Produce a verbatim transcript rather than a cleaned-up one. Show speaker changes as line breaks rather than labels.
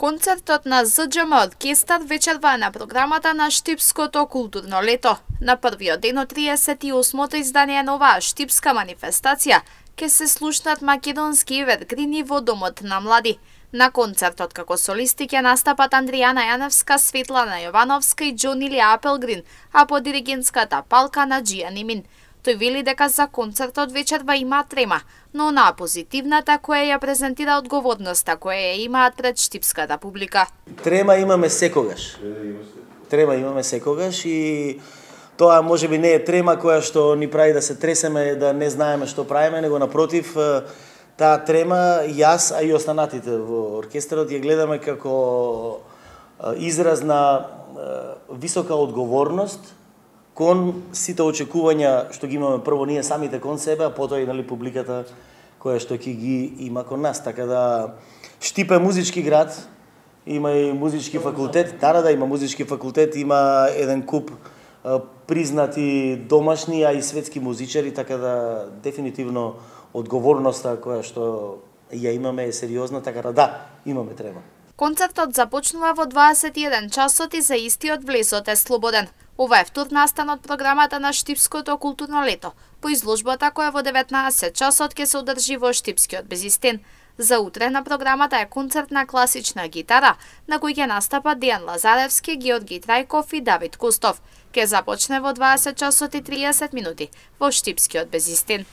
Концертот на З Џ М оркестар вечерва на програмата на Штипското културно лето. На првиот ден од триесет и осмото издание на оваа штипска манифестација ќе се слушнат македонски евергрини во Домот на млади. На концертот како солисти ќе настапат Андријана Јаневска, Светлана Јовановска и Џон Илија Апелгрин, а по диригентската палка Наџија Нимин. Тој вели дека за концертот вечерва има трема, но онаа позитивната која ја презентира одговорноста која ја имаат пред штипската публика.
Трема имаме секогаш. Трема имаме секогаш и тоа можеби не е трема која што ни прави да се тресеме, да не знаеме што правиме, него напротив, таа трема јас, а и останатите во оркестарот ја гледаме како израз на висока одговорност кон сите очекувања што ги имаме прво ние самите кон себе, а потоа и нали публиката која што ќе ги има кон нас. Така да Штип е музички град, има и музички факултет, да, да, има музички факултет, има еден куп признати домашни, а и светски музичари, така да дефинитивно одговорноста која што ја имаме е сериозна, така да да, имаме трема.
Концертот започнува во дваесет и еден часот и за истиот влезот е слободен. Ова е втор настан од програмата на Штипското културно лето, по изложбата која во деветнаесет часот ќе се одржи во Штипскиот Безистен. За утре на програмата е концерт на класична гитара, на кој ќе настапат Дејан Лазаревски, Георги Трајков и Давид Кустов. Ќе започне во дваесет часот и триесет минути во Штипскиот Безистен.